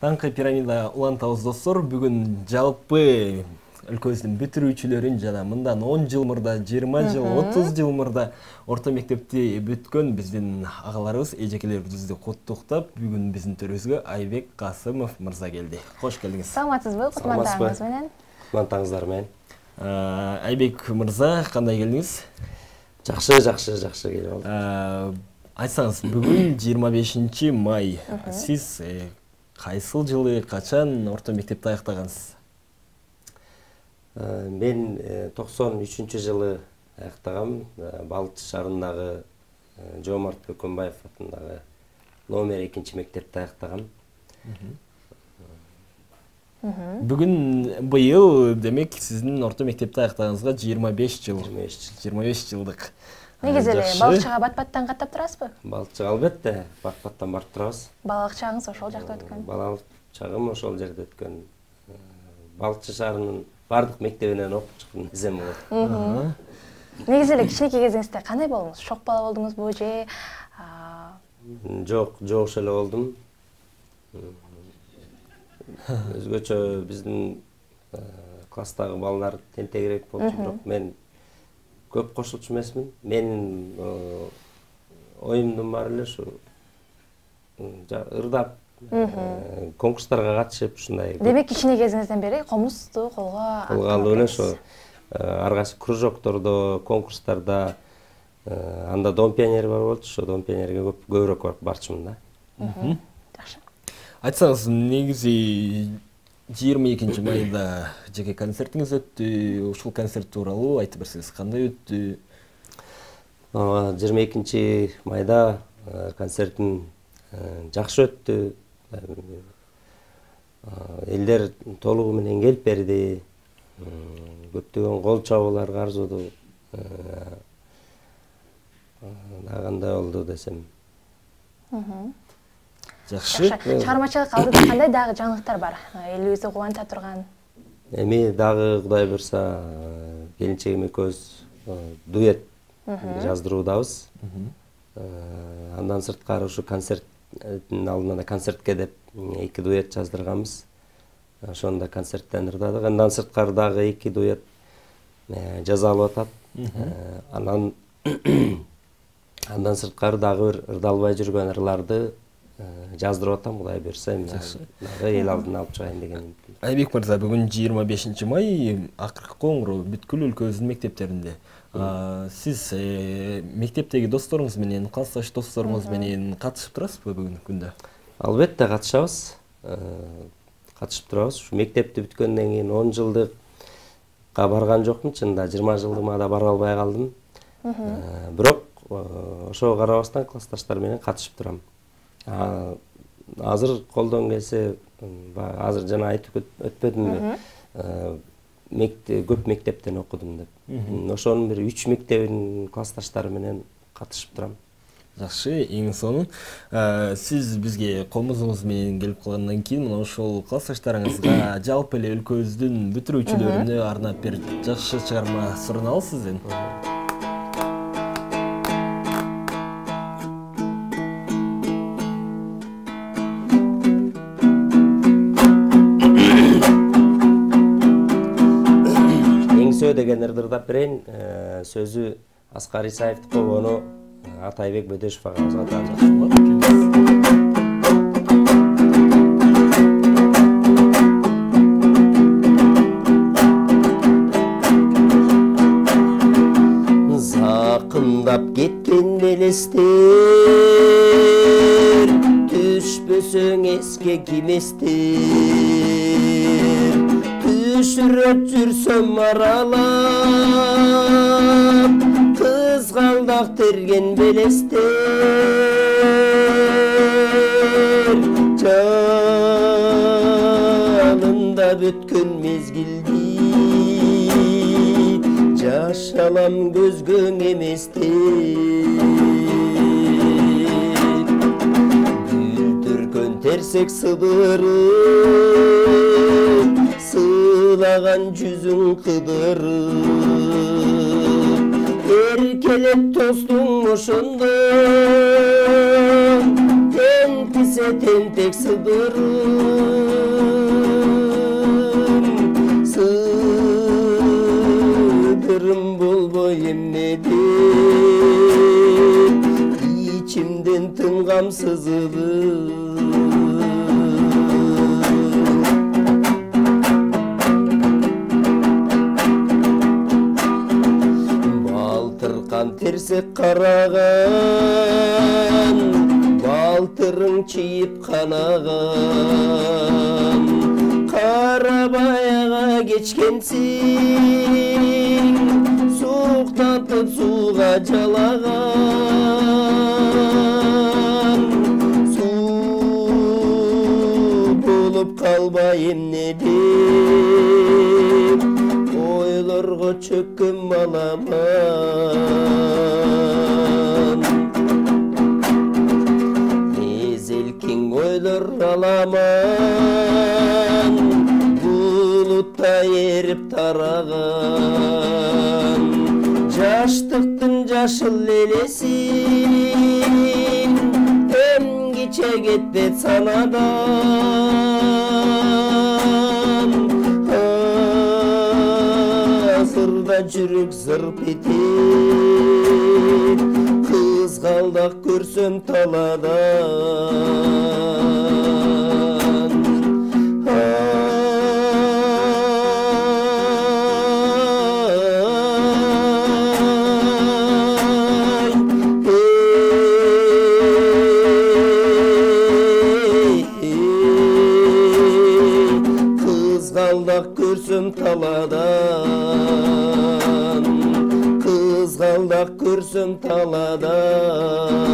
Таңкы пирамида улантабыз достор. Бүгүн жалпы өлкөбүздүн бүтүрүүчүлөрүн жана мындан 10 жыл мурда, 20 жыл, 30 жыл мурда орто мектепти бүткөн биздин агаларыбыз, эжекелерибизди куттуктап, бүгүн биздин төрүбүзгө Айбек Касымов мырза келди. Кош келдиңиз. Саламатсызбы? Кутмандыгыңыз менен. Кутмандыгыңыздар менен. Айбек мырза, кандай келдиңиз? Жакшы келип алдым. Айтсаңыз, бүгүн 25 май. Сиз кайсыл жылы, качан орто мектепти аяктагансыз? Мен 93 жылы аяктагам. Балчы шаарындагы Жоомарт Көкөнбаев атындагы номер 2 мектепти аяктагам. Бүгүн быйыл демек сиздин орто мектепти аяктаганыңызга 25 жыл. 25 жылдык. Негизи эле балыкчыга бат-баттан каттап турасызбы? Балыкчыга албетте бат-баттан барып турабыз. Балалык чагыңыз ошол жакта өткөн? Балалык чагым ошол жерде өткөн. Балыкчы шаарынын бардык мектебинен окуп чыккан эсем болот. Негизи эле кичинекей кезиңизде кандай болдуңуз? Шок бала болдуңузбу же? Жок, жогуш эле болдум. Өзгөчө биздин класстагы балдар тентегирээк болчу, бирок мен көп кошулчу эмесмин. Менин оюмдун баары эле ушу ырдап, конкурстарга катышып, ушундай. Демек, кичине кезиңизден бери комузду колго алып эле ошо ар кайсы кружоктордо, конкурстарда, анда Дом пионери бар болчу, ошо Дом пионерге көбүрөөк барчумун да. Жакшы. Айтсаңыз, негизи 22 майда жеке концертиңиз өттү. Ушул концерт тууралуу айтып берсеңиз, кандай өттү? 22 майда концертим жакшы өттү. Элдер толугу менен келип берди. Көптөгөн кол чабуулар каржыды. Кандай болду десем. Жакшы. Чыгармачылык алдыда кандай дагы жаңылыктар бар? Элибизди кубанта турган. Эми дагы Кудай буйрса келинчегим экөөбүз дуэт жаздыруудабыз. Андан сырткары ушу концерттин алдында концертке деп 2 дуэт жаздырганбыз. Ошону да концерттен ырдадык. Андан сырткары дагы 2 дуэт жазалып атат. Андан сырткары дагы бир ырдалбай жүргөн ырларды жаздырып атам, Кудай буйрса, дагы эл алдына алып чыгайын деген. Айбек мырза, бүгүн 25 май, акыркы коңгуроо бүткүл өлкөбүздүн мектептеринде. Сиз мектептеги досторуңуз менен, классташ досторуңуз менен катышып турасызбы бүгүнкү күндө? Албетте катышабыз. Катышып турабыз. Ушу мектепти бүткөндөн кийин 10 жылдыкка барган жокмун, чынында 20 жылдыма да бара албай калдым. Бирок ошого карабастан классташтар менен катышып турам. Азыр колдон келсе, азыр жана айтып өтпөдүмбү, көп мектептен окудум деп. Ошонун бир 3 мектебинин классташтары менен катышып турам. Жакшы, эң сонун. Сиз бизге комузуңуз менен келип калгандан кийин, мына ошол классташтарыңызга жалпы эле өлкөбүздүн бүтүрүүчүлөрүнө арнап бир жакшы чыгарма сурунабыз сизден. Деген ырдап берейин. Сөзү Аскар Исаевдин, кобону Атайбек Бөдөшов агабызга таандык. Закындап кеткен белестер, түшпөсөң эске киместер. Түшүрөп жүрсөм аралап, кызгалдак терген белестер. Жанында бүткөн мезгилди жашалам көзгөң эместер. Бүлдүргөн терсек сыбырып, сыйлаган жүзүң кыдырып, эркелеп тостуң ошондо, тентисе тентек сыдырып. эмнеде ичимден тынгам сызылып балтыркан терсек караган балтырың чийип канаган Карабаяга кечкенсиң суктатып сууга жалаган суу болуп калбай эмнеде ойлорго чөккөн маламан мезелкиң ойлор аламан булутта эрип тараган жаштыктын жашыл элесин эмгиче кетпет санадан азырда жүрөк зырп этет кызгалдак көрсөм таладан Kızgaldak görsüm taladan Kızgaldak görsüm taladan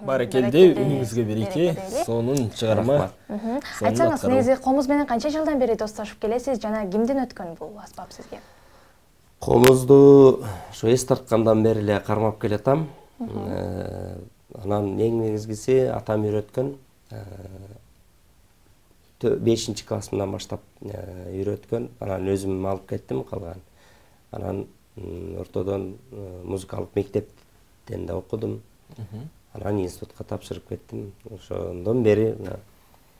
Баракелде, үнүңүзгө береке, сонун чыгарма. Айтсаңыз, негизи комуз менен канча жылдан бери достошуп келесиз жана кимден өткөн бул аспап сизге? Комузду ошо эс тарткандан бери эле кармап келатам. Анан эң негизгиси атам үйрөткөн. 5-классымдан баштап үйрөткөн. Анан өзүм алып кеттим калган. Анан ортодон музыкалык мектептен да окудум. Анан институтка тапшырып кеттим. Ошондон бери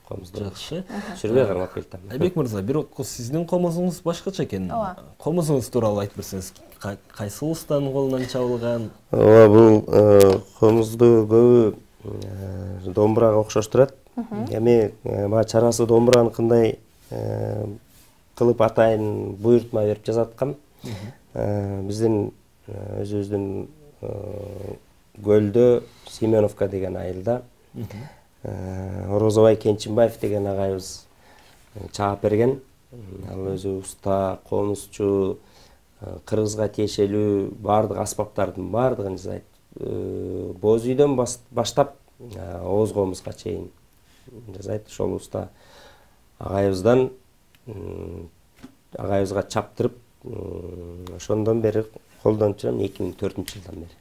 комузду жакшы жүрбөй кармап келатам. Айбек мырза, бирок сиздин комузуңуз башкача экен. Комузуңуз тууралуу айтып берсеңиз, кайсы устанын колунан чабылган? Ооба, бул комузду көбү домбурага окшоштурат. Эми баа чарасы домбураны кандай кылып атайын буйртма берип жазаткан. Биздин өзүбүздүн көлдө Семеновка деген айылда Орозобай Кенчинбаев деген агайыбыз чаап берген. Ал өзү уста, комузчу, кыргызга тиешелүү баардык аспаптардын баардыгын жасайт. Боз үйдөн баштап ооз комузга чейин жасайт. Ошол уста агайыбыздан агайыбызга чаптырып, ошондон бери колдонуп жүрөм 2004-жылдан бери.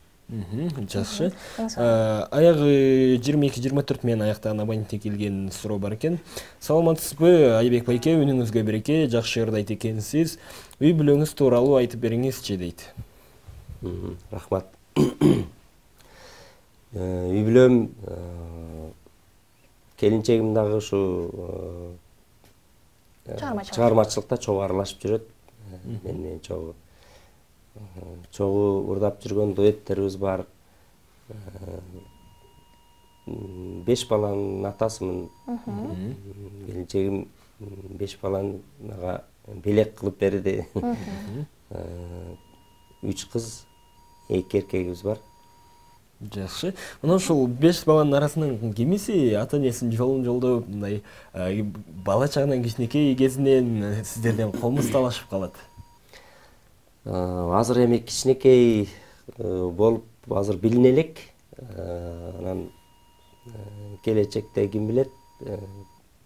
Жакшы. Аягы 22-24 менен аяктаган абоненттен келген суроо бар экен. Саламатсызбы, Айбек байке, үнүңүзгө береке, жакшы ырдайт экенсиз. Үй бүлөңүз тууралуу айтып бериңизчи дейт. Рахмат. Үй бүлөм келинчегим дагы ушу чыгармачылыкта чогуу аралашып жүрөт. Мен менен чогуу урдап жүргөн дуэттерибиз бар. 5 баланын атасымын. Келинчегим 5 баланы мага белек кылып берди. 3 кыз, 2 эркегибиз бар. Жакшы. Мына ушул 5 баланын арасынан кимиси ата-энесинин жолун жолдоп, мындай бала чагынан кичинекей кезинен сиздерден комуз талашып калат? Азыр эми кичинекей болуп азыр билине элек. Анан келечекте ким билет.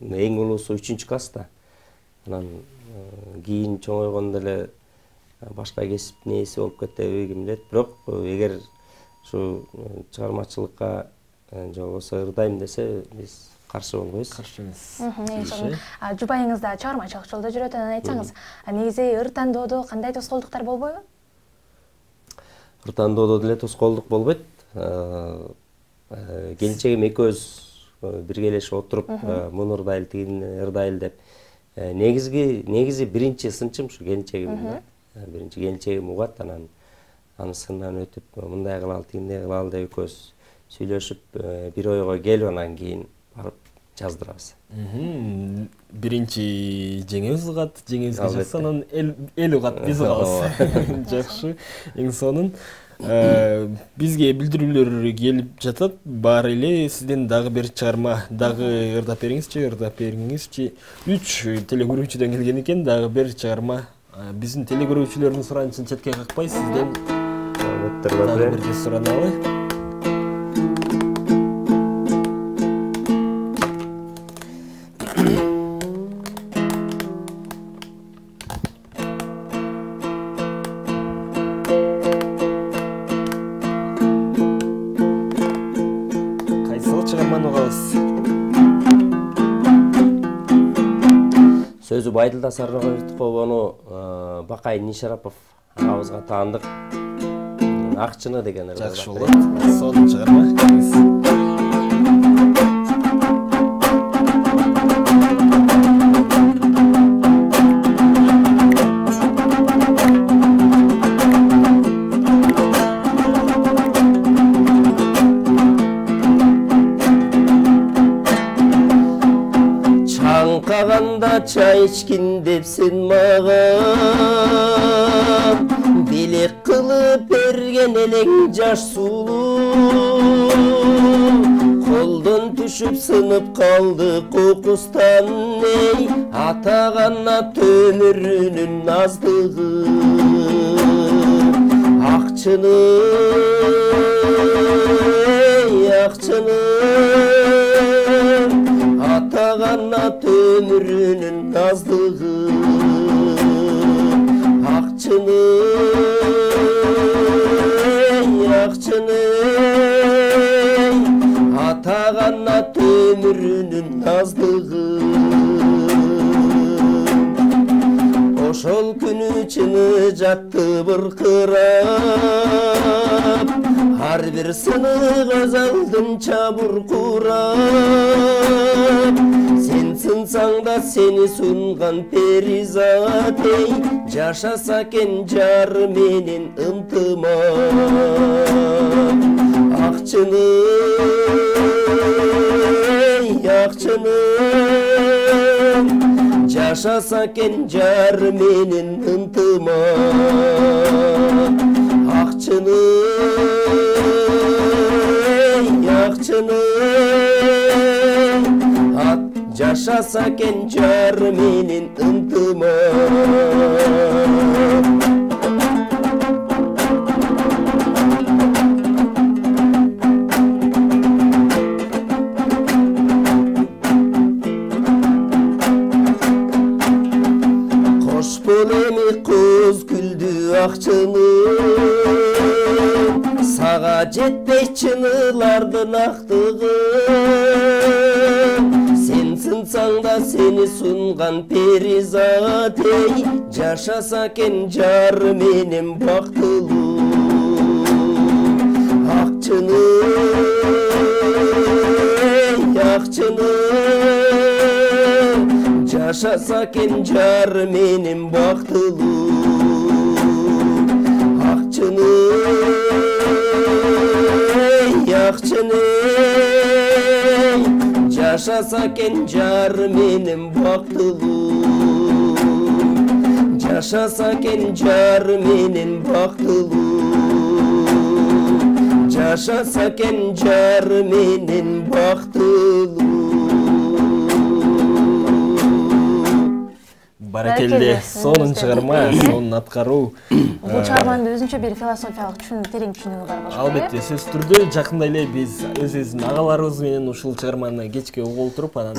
Эң улуусу 3-класста. Анан кийин чоңойгондо эле башка кесип нээси болуп кетеби ким билет. Бирок эгер ушу чыгармачылыкка жолбосо ырдайм десе, биз каршы болбойбуз. Каршы эмес. Жубайыңыз да чыгармачылык жолдо жүрөт, анан айтсаңыз, негизи ыр тандоодо кандай тоскоолдуктар болбойбу? Ыр тандоодо деле тоскоолдук болбойт. Келинчегим экөөбүз биргелешип отуруп муну ырдайлы тигини ырдайлы деп негизи биринчи сынчым ушу келинчегим да. Биринчи келинчегим угат, анан анын сынынан өтүп мындай кылалы тигиндей кылалы деп экөөбүз сүйлөшүп бир ойго келип анан кийин барып жаздырабыз. Биринчи жеңебиз угат, жеңебизге жатса анан эл угат, биз угабыз. Жакшы. Эң сонун бизге билдирүүлөр келип жатат. Баары эле сизден дагы бир чыгарма дагы ырдап бериңизчи. 3 телекөрүүчүдөн келген экен, дагы бир чыгарма. Биздин телекөрүүчүлөрдүн суранычын четке какпай сизден дагы бир сураналы. Сөзү Байдылда Сарнагай Бертиповону Бакай Нишарапов агабызга таандык. Акчыны деген ырды. Жакшы болот. Сонун чыгарма. Чай ичкин депсин мага, билек кылып берген элең жаш сулуу. Колдон түшүп сынып калды кокустан, эй атагана өмүрүнүн аздыгы. Акчыны атагана өмүрүнүн аздыгы. Акчыны атагана өмүрүнүн аздыгы. Ошол күнү чыны жатты быркырап, ар бир сынык көз алдымча буркурап. Сен сынсаң да сени сунган перизат, эй жашаса экен жар менен ынтымак. Акчыны жашаса экен жар менен ынтымак. Акчыны жашаса экен жар менен ынтымак. Кыз күлдү акчыны, сага жетпей чынылардын актыгы. Сен сынсаң да сени сунган перизат, эй жашаса экен жар менен бактылуу. Акчыны жашаса экен жар менен бактылуу. Акчыны жашаса экен жар менен бактылуу. Жашаса экен жар менен бактылуу. Жашаса экен жар менен бактылуу. Баракелде, сонун чыгарма, сонун аткаруу. Бул чыгарманын өзүнчө бир философиялык терең түшүнүгү бар болчу. Албетте, сөзсүз түрдө жакында эле биз өзүбүздүн агаларыбыз менен ушул чыгарманы кечке угуп отуруп, анан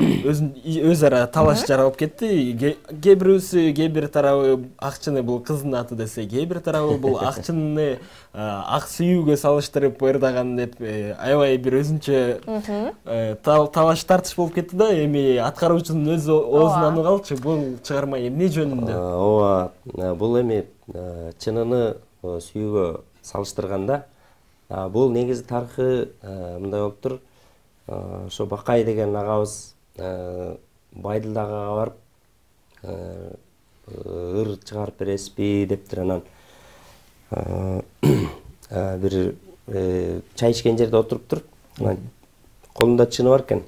өз ара талаш жаралып кетти. Кээ бир тарабы акчыны бул кыздын аты десе, кээ бир тарабы бул акчыны ак сүйүүгө салыштырып ырдаган деп аябай бир өзүнчө талаш тартыш болуп кетти да. Эми аткаруучунун өз оозунан угалчы, бул чыгарма эмне жөнүндө? Ооба, бул эми чыныны сүйүүгө салыштырганда, бул негизи тарыхы мындай болуптур. ошо Бакай деген агабыз Байдылдагага барып ыр чыгарып бересизби дептир. Анан бир чай ичкен жерде отуруптур. Анан колунда чыны бар экен.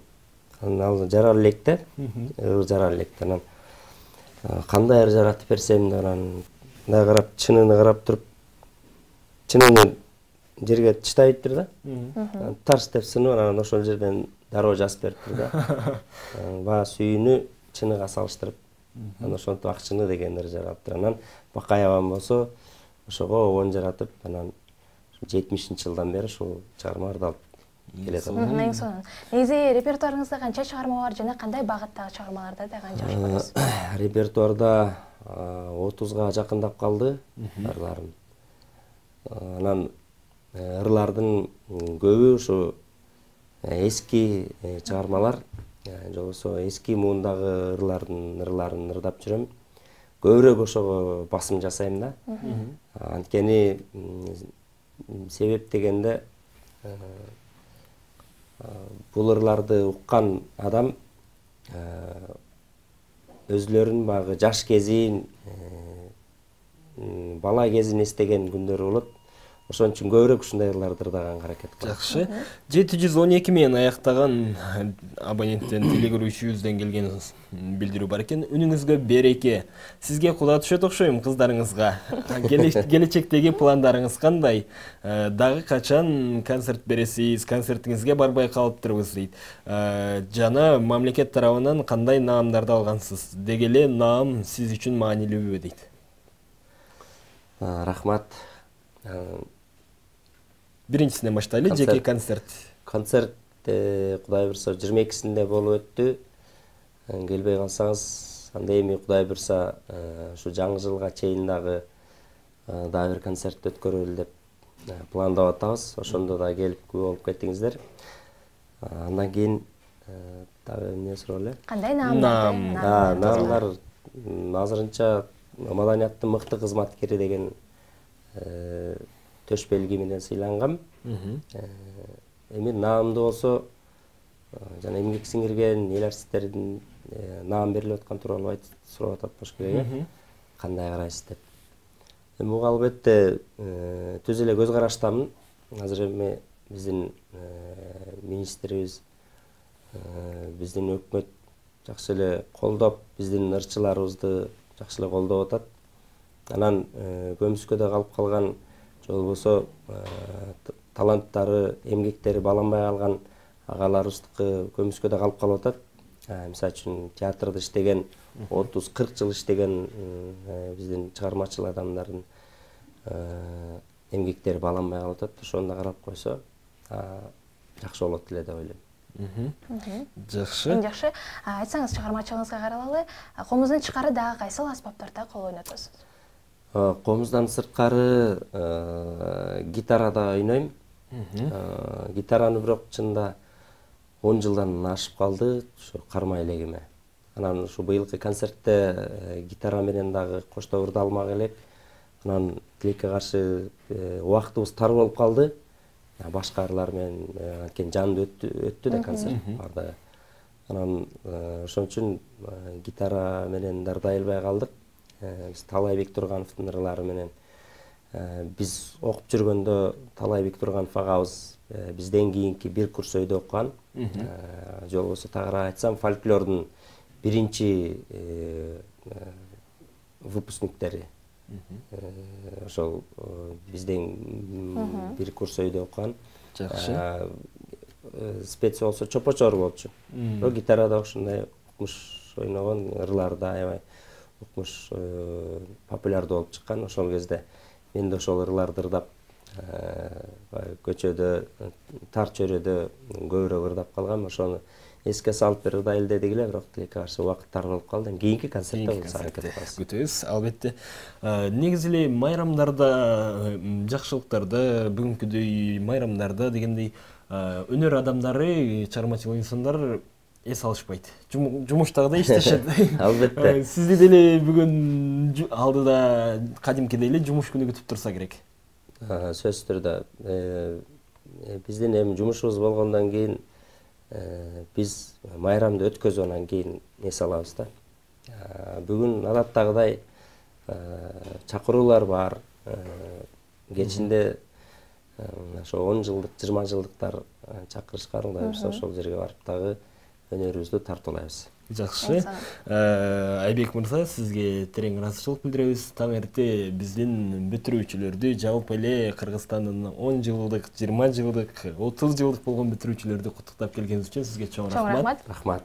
Анан ал жарал электе, ыр жарал электе. Анан кандай ыр жаратып берсем деп анан мындай карап, чынын карап туруп, чынын жерге чытайыптыр да. Тарс деп сынып, анан ошол жерден дароо жазып бериптир да. Баа сүйүнү чыныга салыштырып, анан ошентип ак чыны деген ыр жараптыр. Анан Бакай абам болсо ошого обон жаратып, анан 70-жылдан бери ушул чыгармаларды алып келет. Эң сонун. Негизи репертуарыңызда канча чыгарма бар жана кандай багыттагы чыгармаларды дагы жакшы көрөсүз? Репертуарда 30га жакындап калды ырларым. Анан ырлардын көбү ушу эски чыгармалар, же болбосо эски муундагы ырларын ырдап жүрөм. Көбүрөөк ошого басым жасайм да. Анткени себеп дегенде бул ырларды уккан адам өзлөрүнүн баягы жаш кезин, бала кезин эстеген күндөрү болот. Ошон үчүн көбүрөөк ушундай ырларды ырдаганга аракет кылам. Жакшы. 712 менен аяктаган абоненттен телегөрүүчүбүздөн келген билдирүү бар экен. Үнүңүзгө береке. Сизге куда түшөт окшойм кыздарыңызга. Келечектеги пландарыңыз кандай? Дагы качан концерт бересиз? Концертиңизге барбай калыптырбыз дейт. Жана мамлекет тарабынан кандай наамдарды алгансыз? Деги эле наам сиз үчүн маанилүүбү дейт. Рахмат. Биринчисинен баштайлы, жеке концерт. Концерт Кудай бурса 22-синде болуп өттү. Келбей калсаңыз, анда эми Кудай бурса ушу жаңы жылга чейин дагы бир концерт өткөрөлү деп пландап атабыз. Ошондо да келип күбө болуп кетиңиздер. Андан кийин дагы эмне суроо эле? Кандай наамдар? Наамдар азырынча маданияттын мыкты кызматкери деген төш белги менен сыйлангам. Эми наамды болсо жана эмгек сиңирген эл артисттердин наам берилип аткан тууралуу сурап атат болуш керек, кандай карайсыз деп. Эми буга албетте түз эле көз караштамын. Азыр эми биздин министрибиз, биздин өкмөт жакшы эле колдоп, биздин ырчыларыбызды жакшы эле колдоп атат. Анан көмүскөдө калып калган, же болбосо таланттары, эмгектери баланбай калган агаларыбыздыкы көмүскөдө калып калып атат. Мисалы үчүн театрда иштеген, 30-40 жыл иштеген биздин чыгармачыл адамдардын эмгектери баланбай калып атат. Ошону да карап койсо жакшы болот эле деп ойлойм. Жакшы. Жакшы. Айтсаңыз, чыгармачылыгыңызга каралалы, комуздун тышкары дагы кайсыл аспаптарда кол ойнотосуз? Комуздан сырткары гитарада ойнойм. Гитараны бирок чында 10 жылдан ашып калды, ушу кармай элегиме. Анан ушу быйылкы концертте гитара менен дагы коштоп ырдалмак элек. Анан тилекке каршы убактыбыз тар болуп калды. Башка ырлар менен анткени жандуу өттү да концерт бардыгы. Анан ошон үчүн гитара менен ырдай албай калдык. Талайбек Тургановдун ырлары менен биз окуп жүргөндө Талайбек Турганов агабыз бизден кийинки бир курс өйдө окуган. Же болбосо тагыраак айтсам, фольклордун биринчи выпускниктери. Ошол бизден бир курс өйдө окуган. Жакшы. Спец болсо Чопочор болчу. Гитарада ошондой укмуш ойногон, ырлары да аябай укмуш популярдуу болуп чыккан. Ошол кезде мен да ошол ырларды ырдап, көчөдө, тар чөйрөдө көбүрөөк ырдап калгам. Ошону эске салып бир ырдайлы дедик эле, бирок тилекке каршы убакыт тар болуп калды. Кийинки концертте аракет кылабыз. Күтөбүз, албетте. Негизи эле майрамдарда, жакшылыктарда, бүгүнкүдөй майрамдарда дегендей өнөр адамдары, чыгармачыл инсандар эс алышпайт. Жумуштагыдай иштешет. Албетте. Сизди деле бүгүн алдыда кадимкидей эле жумуш күнү күтүп турса керек. Сөзсүз түрдө биздин эми жумушубуз болгондон кийин биз майрамды өткөзүп анан кийин эс алабыз да. Бүгүн адаттагыдай чакыруулар бар. Кечинде ошо 10 жылдык, 20 жылдыктар чакырышкан, Кудай буюрса ошол жерге барып дагы өнөрүбүздү тартуулайбыз. Жакшы. Айбек мырза, сизге терең ыраазычылык билдиребиз. Таң эрте биздин бүтүрүүчүлөрдү, жалпы эле Кыргызстандын 10 жылдык, 20 жылдык, 30 жылдык болгон бүтүрүүчүлөрдү куттуктап келгениңиз үчүн сизге чоң рахмат. Рахмат.